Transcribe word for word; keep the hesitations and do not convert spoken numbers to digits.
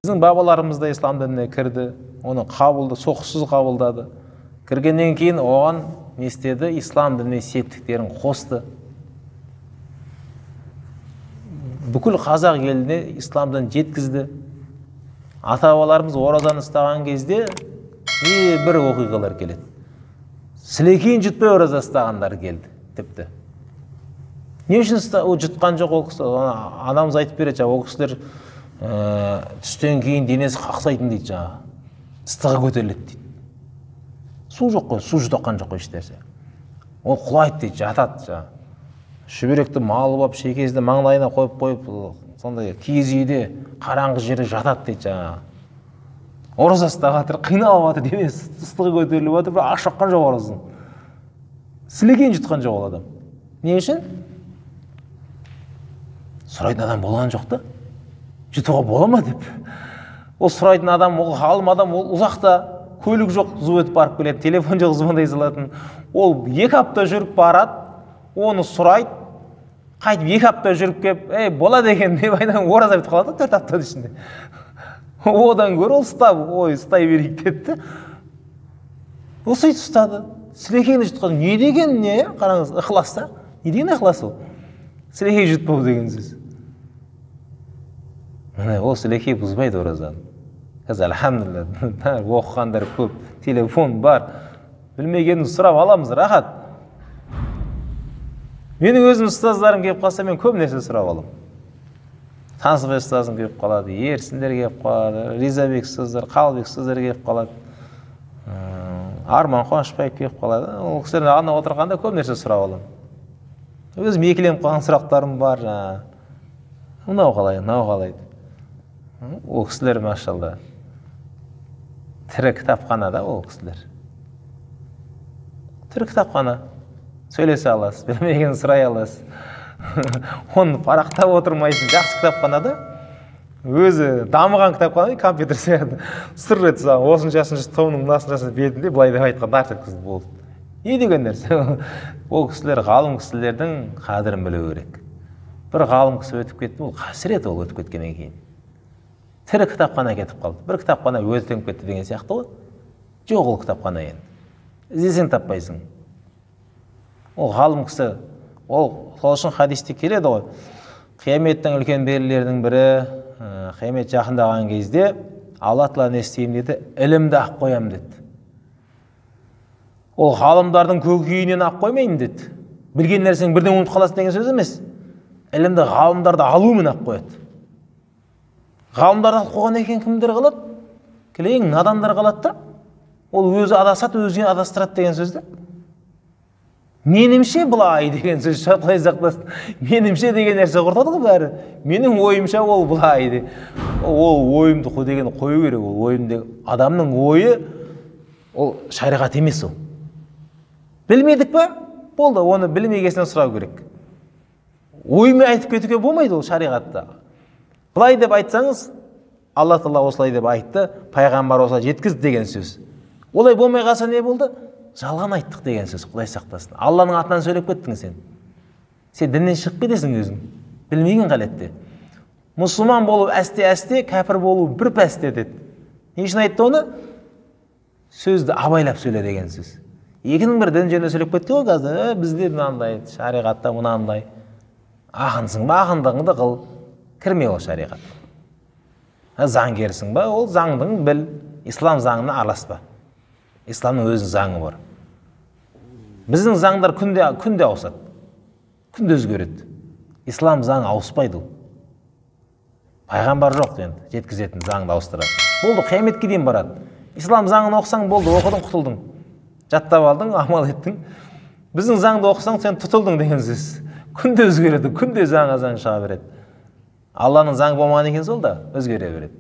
Біздің бабаларымыз да ислам дініне кірді, оны қабылды, соққысыз қабылдады. Кіргеннен кейін оған не істеді? Ислам дініне септіктерін қосты. Бүкіл қазақ еліне ислам дінін жеткізді. Ата-бабаларымыз оразаны ұстаған кезде бір оқиғалар келеді. Сілекейін жұтпай ораза ұстағандар келді, тіпті. Не үшін жұтқан жоқ ол кісі? Анамыз айтып береді, ол кісілер түстен кейін денесі қақсайтын дейді, жаңа ыстығы көтеріледі дейді. Су жоқ қой, су жұтқан жоқ қой іштерсе. Ол құлайды дейді, жатады жаңа. Шүберекті малып алып, шекесді маңдайына қойып қойып, сондай киіз үйде қараңғы жерде жатады дейді жаңа. Ораза ұстап жатыр, қиналып жатыр, денесі ыстығы көтеріліп жатыр, бірақ аш шаққан жоқ оразасын. Сілекейін жұтқан жоқ ол адам. Не үшін? Сұрайтын адам болған жоқ та. Жұтуға бола ма деп. Ол сұрайтын адам, ол ғалым адам, ол ұзақта, көлік жоқ, зу өтіп барып келеді, телефон жоқ, звондай салатын. Ол екі апта жүріп барады, оны сұрайды, қайтып екі апта жүріп кеп, ей, болады екен деп айдан ораза бітіп қалады, төрт аптаның ішінде. Одан гөрі ол ұстап, ой, ұстай берейік деді. Ол сөйтіп ұстады. Сілекейді жұтқан. Не деген не? Қараңыз, ықыласта. Не деген ықылас ол? Сілекей жұтпау деген сөз. Ол сілекей бұзбайды оразаны. Қазір әлхамдулилля, оқығандар көп, телефон бар. Білмегенін сұрап аламыз, рахат. Менің өзім ұстаздарым келіп қалса, мен көп нәрсе сұрап алам. Тансыбай ұстазым келіп қалады, Ерсіндер келіп қалады, Ризабек ұстаздар, Қалбек ұстаздар келіп қалады, Арман Қуанышбаев келіп қалады. Ол кісілердің ағына отырғанда көп нәрсе сұрап алам. Өзім екіленіп қалған сұрақтарым бар. Мынау қалай, мынау қалай. Ол кісілер, машалла, тірі кітапхана да ол кісілер. Тірі кітапхана. Сөйлесе аласыз, білмеген сұрай аласыз. Оны парақтап отырмайсың. Жақсы кітапханада, өзі дамыған кітапхана, компьютер сияқты. Сыр етсі, осыншасыншы томның мынасыншасыншы бетінде былай деп айтқан нарт еткізді болды. Не деген нәрсе? Ол кісілер, ғалым кісілердің қадірін білу керек. Бір ғалым кісі өтіп кетті, ол қасірет ол өтіп кеткеннен кейін. Тірі кітапхана кетіп қалды. Бір кітапхана өтіп кетті деген сияқты ғой. Жоқ ол кітапхана енді. Іздесең таппайсың. Ол ғалым кісі, ол сол үшін хадисте келеді ғой. Қияметтің үлкен белгілерінің бірі, қиямет жақындаған кезде Алла Тағала не істеймін деді, ілімді ақ қоямын деді. Ол ғалымдардың көкейінен ақ қоймаймын деді. Білген нәрсең бірден ұмытып қаласың деген сөз емес. Ілімді ғалымдарды алуымен ақ қояды. Ғалымдарды алып қойған екен кімдер қалады? Келең надандар қалады да. Ол өзі адасады, өзіне адастырады деген сөзді. Менімше былай деген сөз шатқылай сақтасын. Менімше деген нәрсе құртады ғой бәрі. Менің ойымша ол былай де. Ол ойымды қой деген қою керек. Ол ойымдегі адамның ойы ол шариғат емес ол. Білмедік па? Болды, оны білмегесінен сұрау керек. Ойымен айтып кетуге болмайды ол шариғатта. Былай деп айтсаңыз, Алла Тағала осылай деп айтты, пайғамбар осылай жеткізді деген сөз. Олай болмай қалса не болды? Жалған айттық деген сөз, Құдай сақтасын. Алланың атынан сөйлеп кеттің сен. Сен діннен шығып кетесің өзің. Білмеген қалетте. Мұсылман болу әсте-әсте, кәпір болу бір пәсте деді. Не үшін айтты оны? Сөзді абайлап сөйле деген сөз. Екінің бір дін жөнінде сөйлеп кетті ғой қазір. Бізде мынандай, шариғатта мынандай. Ақынсың ба, ақындығыңды қыл. Кірме ол шариғат. Заңгерсің ба, ол заңдың біл. Ислам заңына араласпа. Исламның өзінің заңы бар. Біздің заңдар күнде күнде ауысады. Күнде өзгереді. Ислам заңы ауыспайды ол. Пайғамбар жоқ енді, жеткізетін заңды ауыстырады. Болды, қияметке дейін барады. Ислам заңын оқысаң болды, оқыдың, құтылдың. Жаттап алдың, амал еттің. Біздің заңды оқысаң, сен тұтылдың деген сөз. Күнде өзгереді, күнде жаңа заң шыға береді. Алланың заңы болмаған екен сол да өзгере береді.